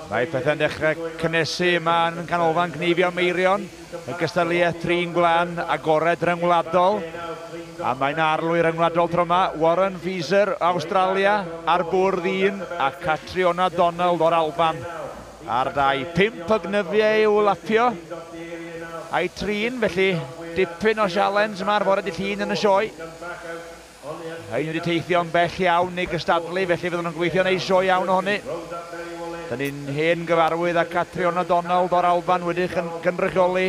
Mae pethau'n dechrau cynnesu yma yn Canolfan Cneifio Meirion, y gystadleuaeth trin gwlân agored ryngwladol. A mae'n arlwy ryngwladol tro yma, Warren Feaser, Awstralia, ar bwrdd 1, a Catriona Donald o'r Alban ar 2. 5 o gnyfiau i'w lapio a'i trin, felly dipyn o sialens yma ar fore dydd Llun yn y sioe. Rhain wedi teithio'n bell iawn i gystadlu, felly fyddwn nhw'n gobeithio wneud sioe iawn ohoni. Dyn ni'n hen gyfarwydd â Catriona Donald o'r Alban wedi cynrychioli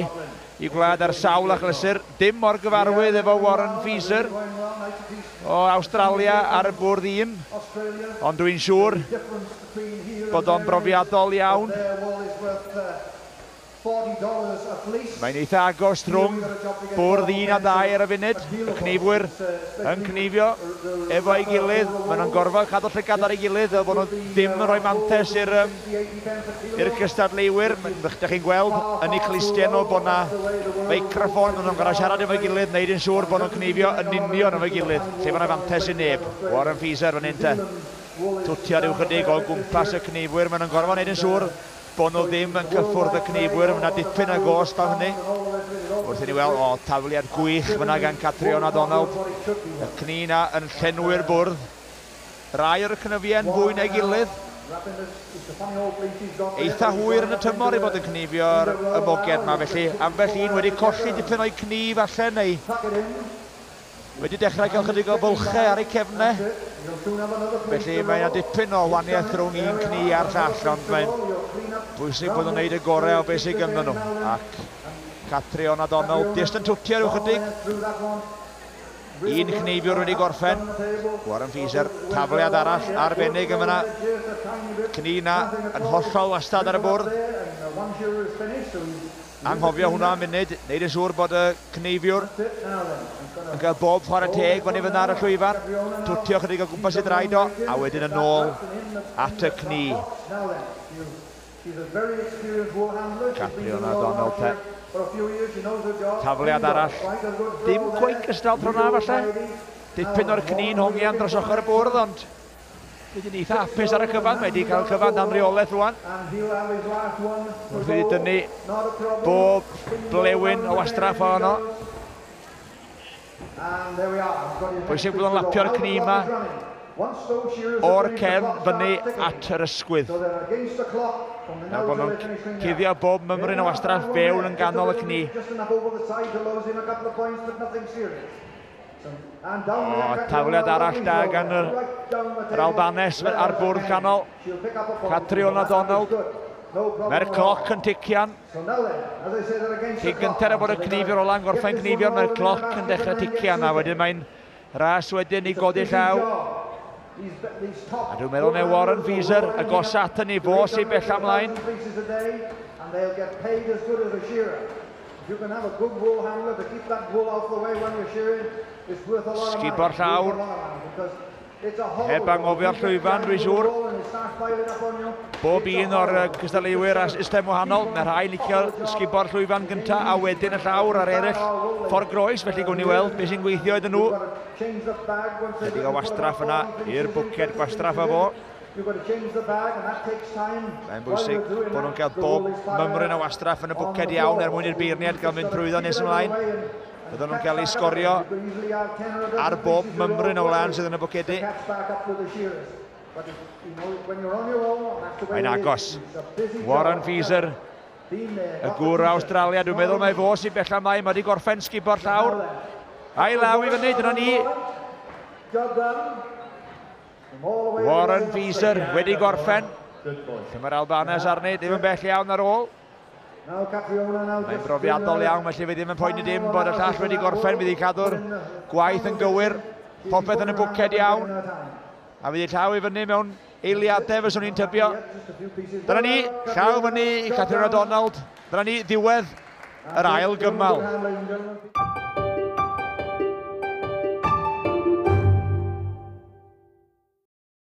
i gwlad ar sawl achlysur. Dim mor gyfarwydd efo Warren Feaser o Awstralia ar y bwrdd 1, ond dwi'n siŵr bod o'n brofiadol iawn. Mae'n eitha agos rhwng bwrdd 1 a 2 ar y funud. Y cneifwyr yn cneifio efo'i gilydd. Maen nhw'n gorfod cadw llygad ar ei gilydd fel bod nhw ddim yn rhoi mantais i'r i'r cystadleuwyr. Dych chi'n gweld yn eu clustiau nhw bod 'na feicroffon, maen nhw'n gorfod siarad efo'i gilydd, wneud yn siŵr bod nhw'n cneifio yn union efo'i gilydd, lle mae 'na fantais i neb. Warren Feaser fan hyn te. Twtio rhyw chydig o gwmpas y cneifwyr, maen nhw'n gorfod wneud yn siŵr bod nhw ddim yn cyffwrdd y cneifwyr, mae yna dipyn o gosb am hynny. Wrth i ni weld, o, tafliad gwych fyna gan Catriona Donald. Y cni na yn llenwi'r bwrdd. Rai o'r cnyfiau'n fwy na'i gilydd. Eitha hwyr yn y tymor i fod yn cneifio'r y moged yma, felly ambell un wedi colli dipyn o'i cni falle, neu wedi dechrau cael chydig o fylchau ar eu cefnau. Felly mae yna dipyn o wahaniaeth rhwng un cni a'r llall, ond mae'n bwysig bod nhw'n gwneud y gorau o beth sydd ganddyn nhw. Ac Catriona Donald jyst yn twtio rhyw chydig. Un cneifiwr wedi gorffen. Warren Feaser, tafliad arall arbennig yn fyna. Cni na yn hollol wastad ar y bwrdd. Anghofio hwnna am munud, neud yn siŵr bod y cneifiwr yn cael bob chwarae teg fyny fyna ar y llwyfan, twtio chydig o gwmpas ei draed o, a wedyn yn ôl at y cni. Catriona Donald te. Tafliad arall, dim cweit gystal tro na falle. Dipyn o'r cni'n hongian dros ochr y bwrdd, ond Dwi yn eitha hapus ar y cyfan, mae wedi cael cyfan dan reolaeth rwan. Wrth iddi dynnu bob blewyn o wastraff ohono. Bwysig bod o'n lapio'r cni yma o'r cefn fyny at yr ysgwydd. Fel bod nhw'n cuddio bob mymryn o wastraff fewn yn ganol y cni. O, tafliad arall da gan yr, yr Albanes ar bwrdd canol. Catriona Donald. Mae'r cloc yn tician. Cyn gynted â bod y cneifiwr ola'n gorffen cneifio, mae'r cloc yn dechrau tician a wedyn mae'n ras wedyn i godi llaw. A dwi'n meddwl mae Warren Feaser y gosa at ni, fo sy'n bell ymlaen. Sgubo'r llawr. Heb anghofio'r llwyfan, dwi'n siŵr. Bob un o'r cystadleuwyr a system wahanol. Mae rhai licio sgubo'r llwyfan gyntaf a wedyn y llawr a'r eraill ffordd groes, felly gwn i weld beth sy'n gweithio iddyn nhw. Chydig o wastraff yna i'r bwced gwastraff a fo. Mae'n bwysig bod nhw'n cael bob mymryn o wastraff yn y bwced iawn er mwyn i'r beirniad gael mynd trwyddo nes ymlaen. Byddwn nhw'n cael eu sgorio ar bob mymryn o wlân sydd yn y bwcedi. Mae'n agos. Warren Feaser, y gŵr o Awstralia, dwi'n meddwl mai fo sy'n bella ymlaen, mae wedi gorffen sgubo'r llawr. A'i law i fyny, dyna ni. Warren Feaser wedi gorffen. Lle mae'r Albanes arni, ddim yn bell iawn ar ôl. Mae'n brofiadol iawn, felly fe ddim yn poeni dim bod y llall wedi gorffen, fydd hi'n cadw'r gwaith yn gywir, popeth yn y bwced iawn. A fydd hi llaw i fyny mewn eiliadau, fyswn i'n tybio. Dyna ni, llaw fyny i Catherine O'Donald. Dyna ni, ddiwedd yr ail gymal.